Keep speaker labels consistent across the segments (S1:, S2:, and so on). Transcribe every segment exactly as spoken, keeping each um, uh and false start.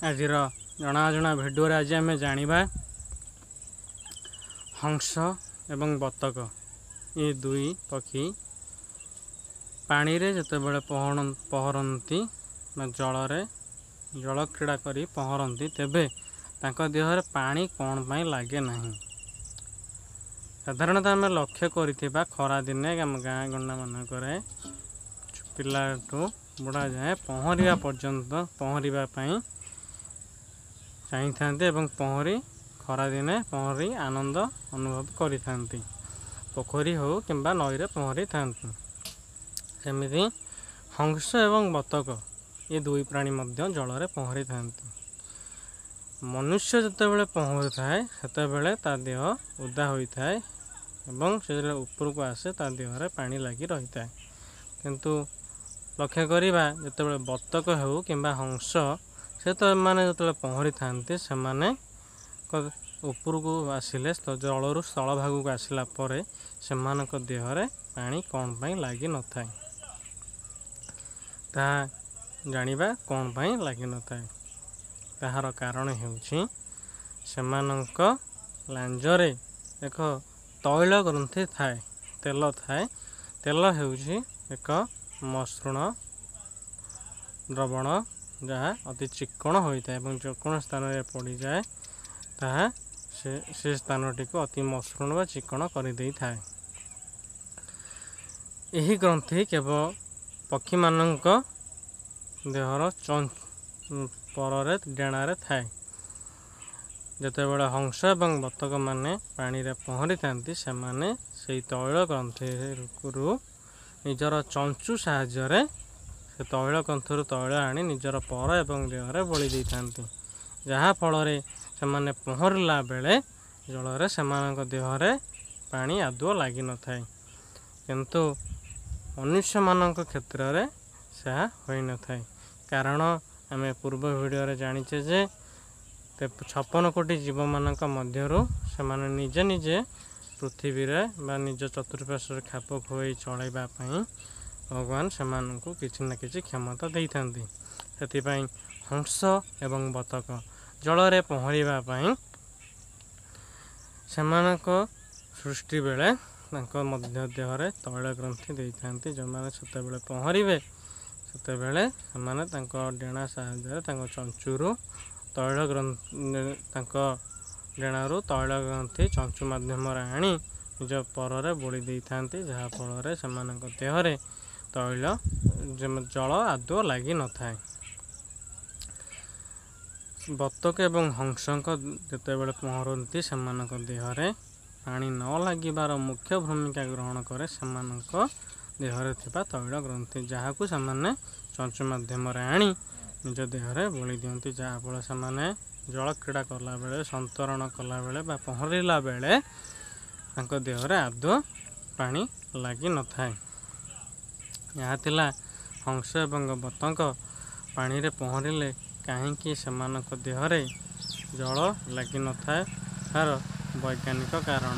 S1: ଆଜିର ଜଣାଅଜଣା ଭିଡ଼ିଓରେ ଆଜି ଆମେ ଜାଣିବା ହଂସ ଏବଂ ବତକ ଏ ଦୁଇ ପକ୍ଷୀ ପାଣିରେ ଯେତେବେଳେ ପହଁରନ୍ତି ବା ଜଳରେ ଜଳକ୍ରୀଡ଼ା କରି ପହଁରନ୍ତି, ତେବେ ତାଙ୍କ ଦେହରେ ପାଣି କ'ଣ ପାଇଁ ଲାଗେ ନାହିଁ। ସାଧାରଣତଃ ଆମେ ଲକ୍ଷ୍ୟ କରିଥିବା ଖରାଦିନେ ଆମ ଗାଁ ଗଣ୍ଡାମାନଙ୍କରେ ପିଲାଠୁ ବୁଢ଼ା ଯାଏଁ ପହଁରିବା ପର୍ଯ୍ୟନ୍ତ ପହଁରିବା ପାଇଁ ଚାହିଁଥାନ୍ତି ଏବଂ ପହଁରି ଖରାଦିନେ ପହଁରି ଆନନ୍ଦ ଅନୁଭବ କରିଥାନ୍ତି। ପୋଖରୀ ହେଉ କିମ୍ବା ନଈରେ ପହଁରିଥାନ୍ତି। ସେମିତି ହଂସ ଏବଂ ବତକ ଏ ଦୁଇ ପ୍ରାଣୀ ମଧ୍ୟ ଜଳରେ ପହଁରିଥାନ୍ତି। ମନୁଷ୍ୟ ଯେତେବେଳେ ପହଁରୁଥାଏ ସେତେବେଳେ ତା ଦେହ ଓଦା ହୋଇଥାଏ ଏବଂ ସେ ଯେତେବେଳେ ଉପରକୁ ଆସେ ତା ଦେହରେ ପାଣି ଲାଗି ରହିଥାଏ। କିନ୍ତୁ ଲକ୍ଷ୍ୟ କରିବା ଯେତେବେଳେ ବତକ ହେଉ କିମ୍ବା ହଂସ, ସେ ତ ଏମାନେ ଯେତେବେଳେ ପହଁରିଥାନ୍ତି ସେମାନେ ଉପରକୁ ଆସିଲେ, ଜଳରୁ ସ୍ଥଳ ଭାଗକୁ ଆସିଲା ପରେ ସେମାନଙ୍କ ଦେହରେ ପାଣି କ'ଣ ପାଇଁ ଲାଗିନଥାଏ, ତାହା ଜାଣିବା କ'ଣ ପାଇଁ ଲାଗିନଥାଏ। ତାହାର କାରଣ ହେଉଛି ସେମାନଙ୍କ ଲାଞ୍ଜରେ ଏକ ତୈଳ ଗ୍ରନ୍ଥି ଥାଏ, ତେଲ ଥାଏ। ତେଲ ହେଉଛି ଏକ ମସୃଣ ଦ୍ରବଣ ଯାହା ଅତି ଚିକ୍କଣ ହୋଇଥାଏ ଏବଂ ଯେକୌଣସି ସ୍ଥାନରେ ପଡ଼ିଯାଏ ତାହା ସେ ସେ ସ୍ଥାନଟିକୁ ଅତି ମସୃଣ ବା ଚିକ୍କଣ କରିଦେଇଥାଏ। ଏହି ଗ୍ରନ୍ଥି କେବଳ ପକ୍ଷୀମାନଙ୍କ ଦେହର ପରରେ ଡେଣାରେ ଥାଏ। ଯେତେବେଳେ ହଂସ ଏବଂ ବତକମାନେ ପାଣିରେ ପହଁରିଥାନ୍ତି ସେମାନେ ସେଇ ତୈଳ ଗ୍ରନ୍ଥିରୁ ନିଜର ଚଞ୍ଚୁ ସାହାଯ୍ୟରେ ସେ ତୈଳ ଗ୍ରନ୍ଥିରୁ ତୈଳ ଆଣି ନିଜର ପର ଏବଂ ଦେହରେ ବୋଳି ଦେଇଥାନ୍ତି, ଯାହାଫଳରେ ସେମାନେ ପହଁରିଲା ବେଳେ ଜଳରେ ସେମାନଙ୍କ ଦେହରେ ପାଣି ଆଦୌ ଲାଗିନଥାଏ। କିନ୍ତୁ ମନୁଷ୍ୟମାନଙ୍କ କ୍ଷେତ୍ରରେ ତାହା ହୋଇନଥାଏ। କାରଣ ଆମେ ପୂର୍ବ ଭିଡ଼ିଓରେ ଜାଣିଛେ ଯେ ଛପନ କୋଟି ଜୀବମାନଙ୍କ ମଧ୍ୟରୁ ସେମାନେ ନିଜେ ନିଜେ ପୃଥିବୀରେ ବା ନିଜ ଚତୁଃପାର୍ଶ୍ୱରେ ଖାପ ଖୁଆଇ ଚଳାଇବା ପାଇଁ ଭଗବାନ ସେମାନଙ୍କୁ କିଛି ନା କିଛି କ୍ଷମତା ଦେଇଥାନ୍ତି। ସେଥିପାଇଁ ହଂସ ଏବଂ ବତକ ଜଳରେ ପହଁରିବା ପାଇଁ ସେମାନଙ୍କ ସୃଷ୍ଟି ବେଳେ ତାଙ୍କ ମଧ୍ୟ ଦେହରେ ତୈଳ ଗ୍ରନ୍ଥି ଦେଇଥାନ୍ତି। ଯେଉଁମାନେ ସେତେବେଳେ ପହଁରିବେ ସେତେବେଳେ ସେମାନେ ତାଙ୍କ ଡେଣା ସାହାଯ୍ୟରେ ତାଙ୍କ ଚଞ୍ଚୁରୁ ତୈଳ ତାଙ୍କ ଡେଣାରୁ ତୈଳ ଗ୍ରନ୍ଥି ଚଞ୍ଚୁ ମାଧ୍ୟମରେ ଆଣି ନିଜ ପରରେ ବୋଳି ଦେଇଥାନ୍ତି, ଯାହାଫଳରେ ସେମାନଙ୍କ ଦେହରେ ତୈଳ ଜଳ ଆଦୌ ଲାଗିନଥାଏ। ବତକ ଏବଂ ହଂସଙ୍କ ଯେତେବେଳେ ପହଁରନ୍ତି ସେମାନଙ୍କ ଦେହରେ ପାଣି ନ ଲାଗିବାର ମୁଖ୍ୟ ଭୂମିକା ଗ୍ରହଣ କରେ ସେମାନଙ୍କ ଦେହରେ ଥିବା ତୈଳ ଗ୍ରନ୍ଥି, ଯାହାକୁ ସେମାନେ ଚଞ୍ଚୁ ମାଧ୍ୟମରେ ଆଣି ନିଜ ଦେହରେ ବୋଳି ଦିଅନ୍ତି, ଯାହାଫଳରେ ସେମାନେ ଜଳକ୍ରୀଡ଼ା କଲାବେଳେ, ସନ୍ତରଣ କଲାବେଳେ ବା ପହଁରିଲା ବେଳେ ତାଙ୍କ ଦେହରେ ଆଦୌ ପାଣି ଲାଗିନଥାଏ। ଏହା ଥିଲା ହଂସ ଏବଂ ବତକ ପାଣିରେ ପହଁରିଲେ କାହିଁକି ସେମାନଙ୍କ ଦେହରେ ଜଳ ଲାଗିନଥାଏ ତାର ବୈଜ୍ଞାନିକ କାରଣ।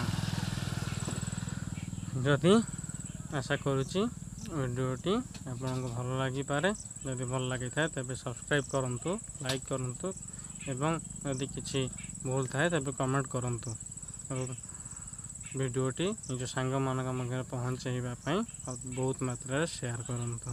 S1: ଯଦି ଆଶା କରୁଛି ଭିଡ଼ିଓଟି ଆପଣଙ୍କୁ ଭଲ ଲାଗିପାରେ। ଯଦି ଭଲ ଲାଗିଥାଏ ତେବେ ସବସ୍କ୍ରାଇବ୍ କରନ୍ତୁ, ଲାଇକ୍ କରନ୍ତୁ ଏବଂ ଯଦି କିଛି ଭୁଲ ଥାଏ ତେବେ କମେଣ୍ଟ କରନ୍ତୁ ଏବଂ ଭିଡ଼ିଓଟି ନିଜ ସାଙ୍ଗମାନଙ୍କ ମଧ୍ୟରେ ପହଞ୍ଚାଇବା ପାଇଁ ବହୁତ ମାତ୍ରାରେ ସେୟାର କରନ୍ତୁ।